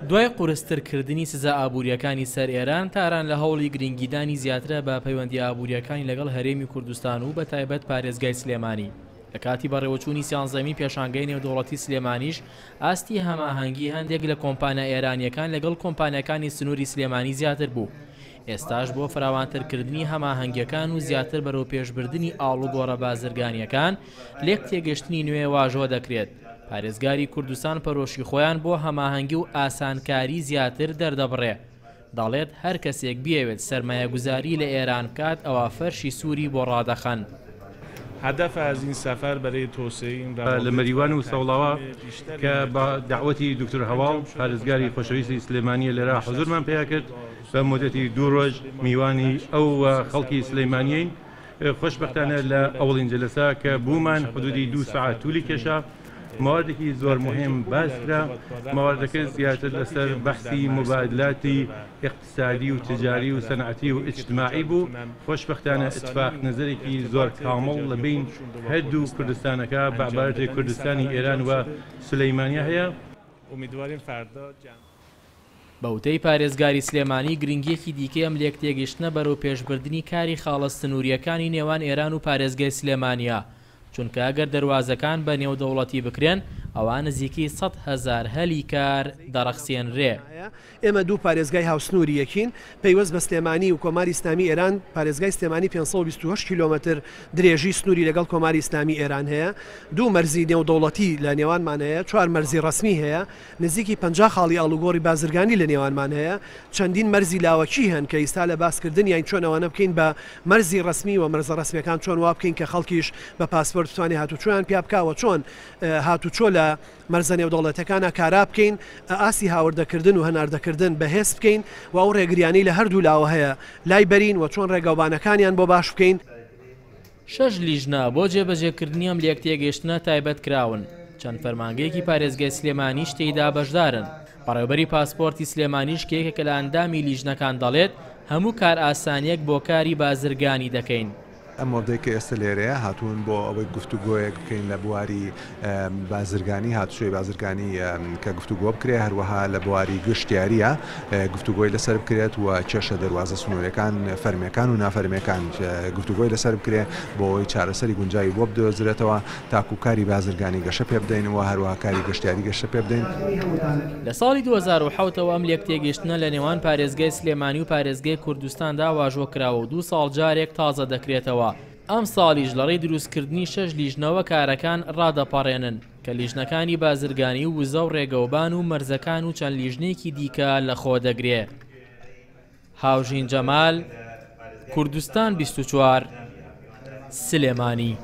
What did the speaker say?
دوای قورستر کردنی سزا ئابوورییەکانی سەر ئێران، تاران لە هەوڵی گرنگیدانی زیاترە بە پەیوەندییە ئابوورییەکانی لەگەڵ هەرێمی کوردستان و بەتایبەت پارێزگای سلێمانی. لە کاتی بەڕێوەچوونی سیانزەمین پێشانگەی نێودەوڵەتی سلێمانیش، ئاستی هەماهەنگی هەندێک لە کۆمپانیا ئێرانییەکان لەگەڵ کۆمپانیاکانی سنووری سلێمانی زیاتر بوو. ئێستاش بۆ فراوانترکردنی هەماهەنگییەکان و زیاتر بەرەوپێشبردنی ئاڵوگۆڕە بازرگانییەکان، لێکتێگەشتنی نوێ واژۆ دەکرێت. پارێزگاری کوردستان پەرۆشی خۆیان بۆ هەماهەنگی و ئاسانکاری زیاتر دەردەبڕێ، دەڵێت هەر کەسێک بیەوێت سەرمایەگوزاری لە ئێران بکات ئەوا فەرشی سووری بۆ ڕادەخەن. لە مەریوان و سەوڵاوا کە بە دەعوەتی دوکتور هەواڵ پارێزگاری خۆشەویستی سلێمانییە لێرە حوزورمان پەیا کرد بە مودەتی دوو ڕۆژ میوانی ئەو و خەڵکی سلەیمانیەین. خۆشبەختانە لە ئەوەڵین جەلەسە کە بوومان حدودی دوو سەعات تولی کێشا، مەواردێکی زۆر موهیم باس کرا، مەواردەکە زیاتر لەسەر بەحسی موبادلاتی ئیقتسادی و تجاری و سەنعەتی و ئیجتماعی بوو، خۆشبەختانە ئیتفاق نەزەرێکی زۆر کامڵ لە بەین هەردوو کوردستانەکە بە عبارەتێ کوردستانی ئێران و سولەیمانیە هەیە. بە وتەی پارێزگاری سلێمانی، گرنگییەکی دیکەی ئەم لێکتێگەیشتنە بەرەوپێشبردنی کاری خاڵە سنوورییەکانی نێوان ئێران و پارێزگای سلێمانییە، چونکە ئەگەر دەروازەکان بە نێودەوڵەتی بکرێن، ئەوا نزیکەی 100,000 هەلی کار دەڕەخسێنرێ. ئێمە دوو پارێزگای هاوسنووری یەکین، پەیوەست بە سلێمانی و کۆماری ئیسلامی ئێران، پارێزگای سلێمانی 528 کیلۆمەتر درێژی سنووری لەگەڵ کۆماری ئیسلامی ئێران هەیە، دوو مەرزی نێودەوڵەتی لە نێوانمان هەیە، چوار مەرزی ڕەسمی هەیە، نزیکی 50 خاڵی ئاڵوگۆڕی بازرگانی لە نێوانمان هەیە، چەندین مەرزی لاوەکی هەن کە ئیستا لە باسکردنیاین چۆن ئەوانە بکەین بە مەرزی ڕەسمی و مەرزە ڕەسمیەکان چۆن وا بکەین کە خەڵکیش بە پاسپۆرت بتوانێت هاتوچۆیان پیا بکا و چۆن هاتوچۆ لە مەرزە نێودەوڵەتیەکانا کارا بکەین، ئاستی هاوردەکردن و هەناردەکردن بەهێز بکەین و ئەو ڕێگریانەی لە هەردوو لاوە هەیە لای بەرین و چۆن ڕێگاوبانەکانیان بۆ باش بکەین. شەش لیژنە بۆ جێبەجێکردنی ئەم لێکتێگەیشتنە تایبەت کراون، چەند فەرمانگەیەکی پارێزگای سلێمانیش تێیدا بەشدارن، بەڕێوەبەری پاسپۆرتی سلێمانیش کە یەکێکە لە ئەندامی لیژنەکان دەڵێت، هەموو کارئاسانییەک بۆ کاری بازرگانی دەکەین. ئەم وەفدەی کە ئێستە لێرەیە هاتوون بۆ ئەوەی گفتوگۆیەک بکەین لە بواری بازرگانی، هاتوچۆی بازرگانی کە گفتوگۆ بکرێت، هەروەها لە بواری گشتیارییە گفتوگۆی لەسەر بکرێت و کێشە دەروازە سنووریەکان فەرمیەکان و نافەرمیەکان گفتوگۆی لەسەر بکرێت بۆ ئەوەی چارەسەری گونجاوی بۆ بدۆزرێتەوە تاکو کاری بازرگانی گەشە پێ بدەین و هەروەها کاری گەشتیاری گەشە پێ بدەین. لە ساڵی 2007 ەوە ئەم لێکتێگەیشتنە لە نێوان پارێزگای سلێمانی و پارێزگای کوردستاندا واژۆ کراوە و دوو ساڵ جارێک تازە دەکرێتەوە، ئەمساڵیش لەڕێی دروستکردنی شەش لیژنەوە کارەکان ڕادەپەڕێنن کە لیژنەکانی بازرگانی و وزە و ڕێگەوبان و مەرزەکان و چەند لیژنەیەکی دیکە لەخۆدەگرێ. هاوژین جەمال، کوردستان 24، سلێمانی.